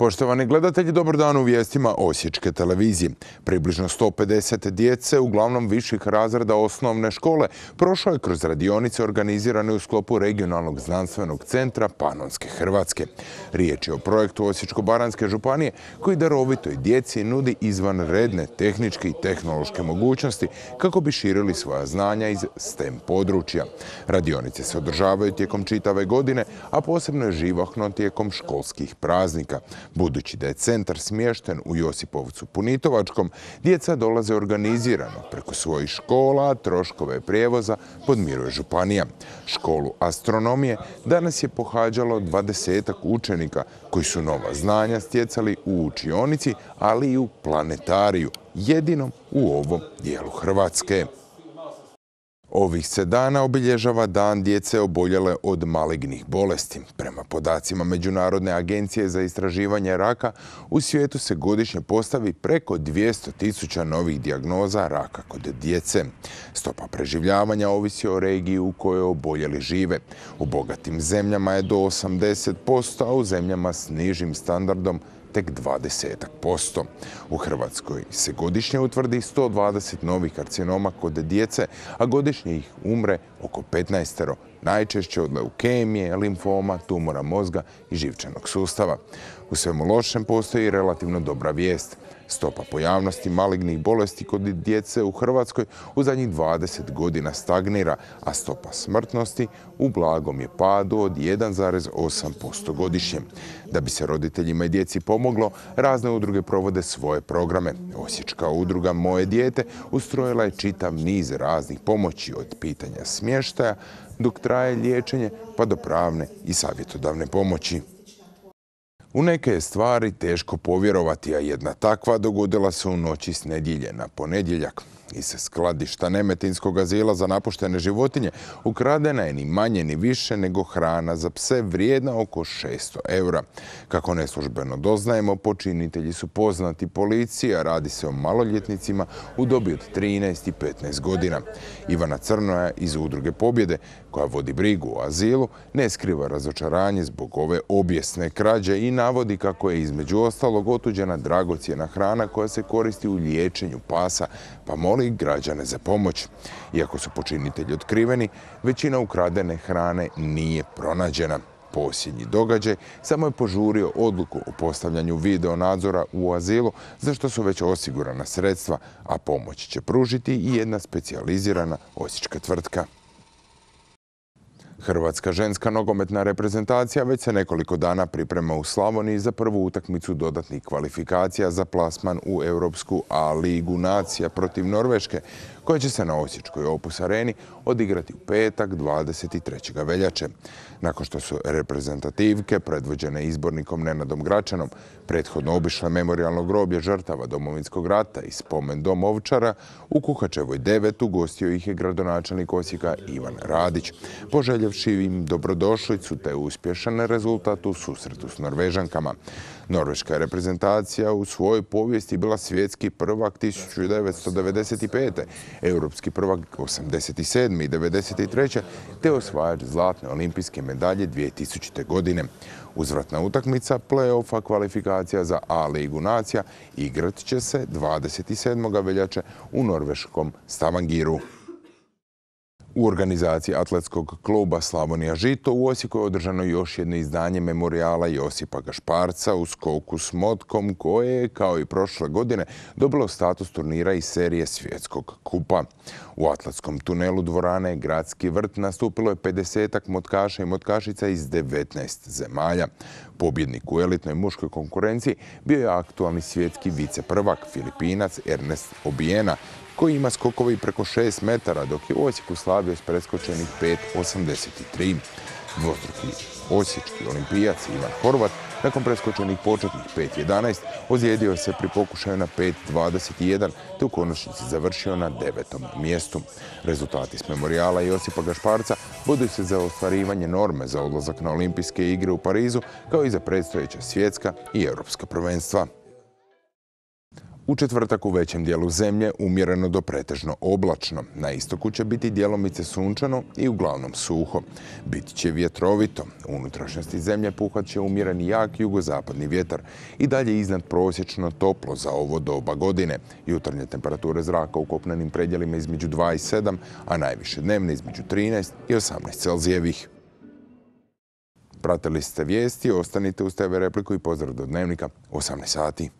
Poštovani gledatelji, dobar dan u vijestima Osječke televizije. Približno 150 djece, uglavnom viših razreda osnovne škole, prošlo je kroz radionice organizirane u sklopu regionalnog znanstvenog centra Panonske Hrvatske. Riječ je o projektu Osječko-baranjske županije koji darovitoj djeci nudi izvanredne tehničke i tehnološke mogućnosti kako bi širili svoja znanja iz STEM područja. Radionice se održavaju tijekom čitave godine, a posebno je živahno tijekom školskih praznika. Budući da je centar smješten u Josipovcu Punitovačkom, djeca dolaze organizirano preko svojih škola, a troškove prijevoza podmiruje županija. Školu astronomije danas je pohađalo 20 učenika koji su nova znanja stjecali u učionici, ali i u planetariju, jedinom u ovom dijelu Hrvatske. Ovih se dana obilježava Dan djece oboljele od malignih bolesti. Prema podacima Međunarodne agencije za istraživanje raka, u svijetu se godišnje postavi preko 200.000 novih dijagnoza raka kod djece. Stopa preživljavanja ovisi o regiji u kojoj oboljeli žive. U bogatim zemljama je do 80%, a u zemljama s nižim standardom tek 20%. U Hrvatskoj se godišnje utvrdi 120 novih karcinoma kod djece, a godišnje ih umre oko 15, najčešće od leukemije, limfoma, tumora mozga i živčanog sustava. U svemu lošem postoji relativno dobra vijest. Stopa pojavnosti malignih bolesti kod djece u Hrvatskoj u zadnjih 20 godina stagnira, a stopa smrtnosti u blagom je padu od 1,8% godišnje. Da bi se roditeljima i djeci pomoglo, razne udruge provode svoje programe. Osječka udruga Moje dijete ustrojila je čitav niz raznih pomoći, od pitanja smještaja dok traje liječenje pa do pravne i savjetodavne pomoći. U neke je stvari teško povjerovati, a jedna takva dogodila se u noći s nedjelje na ponedjeljak. Iz skladišta Nemetinskog azila za napuštene životinje ukradena je ni manje ni više nego hrana za pse vrijedna oko 600 eura. Kako neslužbeno doznajemo, počinitelji su poznati policiji, a radi se o maloljetnicima u dobi od 13 i 15 godina. Ivana Crnoja iz Udruge Pobjede, koja vodi brigu o azilu, ne skriva razočaranje zbog ove obijesne krađe i navodi kako je između ostalog otuđena dragocjena hrana koja se koristi u liječenju pasa, pa moli građane za pomoć. Iako su počinitelji otkriveni, većina ukradene hrane nije pronađena. Posljednji događaj samo je požurio odluku o postavljanju video nadzora u azilu, za što su već osigurana sredstva, a pomoć će pružiti i jedna specijalizirana osječka tvrtka. Hrvatska ženska nogometna reprezentacija već se nekoliko dana priprema u Slavoniji za prvu utakmicu dodatnih kvalifikacija za plasman u Europsku A ligu nacija protiv Norveške, koja će se na osječkoj Opus areni odigrati u petak 23. veljače. Nakon što su reprezentativke, predvođene izbornikom Nenadom Gračanom, prethodno obišle memorijalno groblje žrtava Domovinskog rata i spomen dom Ovčara, u Kuhačevoj 9 ugostio ih je gradonačelnik Osijeka Ivan Radić, poželjevši im dobrodošlicu te uspješan rezultat u susretu s Norvežankama. Norveška reprezentacija u svojoj povijesti bila svjetski prvak 1995. Europski prvak 87. i 93. te osvajač zlatne olimpijske medalje 2000. godine. Uzvratna utakmica play-offa kvalifikacija za A ligu nacija igrat će se 27. veljače u norveškom Stavangiru. U organizaciji atletskog kluba Slavonija Žito u Osijeku je održano još jedno izdanje memorijala Josipa Gašparca u skoku s motkom, koje je, kao i prošle godine, dobilo status turnira iz serije Svjetskog kupa. U atletskom tunelu dvorane Gradski vrt nastupilo je 50-ak motkaša i motkašica iz 19 zemalja. Pobjednik u elitnoj muškoj konkurenciji bio je aktualni svjetski viceprvak Filipinac Ernest Obiena, koji ima skokovi preko 6 metara, dok je u Osijeku slavio s preskočenih 5,83. Dvostruki osječki olimpijac Ivan Horvat, nakon preskočenih početnih 5,11, ozlijedio se pri pokušaju na 5,21, te u konačnici završio na 9. mjestu. Rezultati s memorijala Josipa Gašparca boduju se za ostvarivanje norme za odlazak na olimpijske igre u Parizu, kao i za predstojeća svjetska i europska prvenstva. U četvrtak u većem dijelu zemlje umjereno do pretežno oblačno. Na istoku će biti djelomice sunčano i uglavnom suho. Bit će vjetrovito. U unutrašnjosti zemlje puhat će umjereni jak jugozapadni vjetar i dalje iznad prosječno toplo za ovo doba godine. Jutarnje temperature zraka u kopnenim predjelima između 2 i 7, a najviše dnevne između 13 i 18 Celzijevih. Pratili ste vijesti, ostanite uz TV Repliku i pozdrav do Dnevnika 18 sati.